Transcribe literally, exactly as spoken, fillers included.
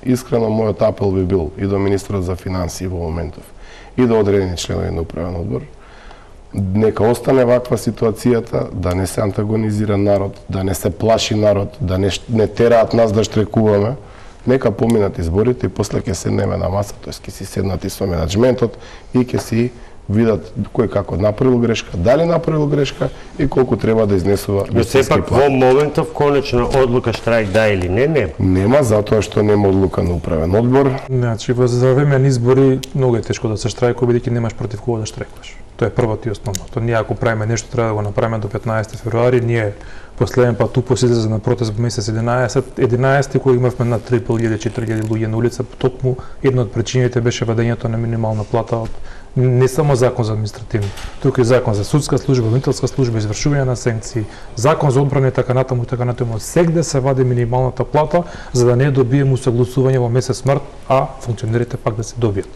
Искрено, мојот апел би бил и до министерот за финансии во моментов, и до одредени членови на управен одбор, нека остане ваква ситуацијата, да не се антагонизира народ, да не се плаши народ, да не, не тераат нас да штрекуваме. Нека поминат изборите и после ќе седнеме на маса, тоест ќе си седнат и со менаџментот и ќе си видат кој како направил грешка, дали направил грешка и колку треба да изнесува. Но сепак во моментов конечна одлука штрајк да или не, не. Нема, затоа што нема одлука на управен одбор. Значи, во за време на избори многу е тешко да се штрајкува, бидејќи немаш против кого да штрајкуваш. Тоа е првото и основното. Ние ако правиме нешто, треба да го направиме до петнаесети февруари. Ние последен пат тупо се излезе на протест во месец единаесет, единаесети кој имавме на три илјади до четири илјади луѓе на улица, токму една од причините беше вадењето на минимална плата од не само закон за административни, туку и закон за судска служба, обвинителска служба, извршување на санкции, закон за одбрана и така натаму и така натаму. Сегде се вади минималната плата за да не добиеме усогласување во месец март, а функционерите пак да се добијат.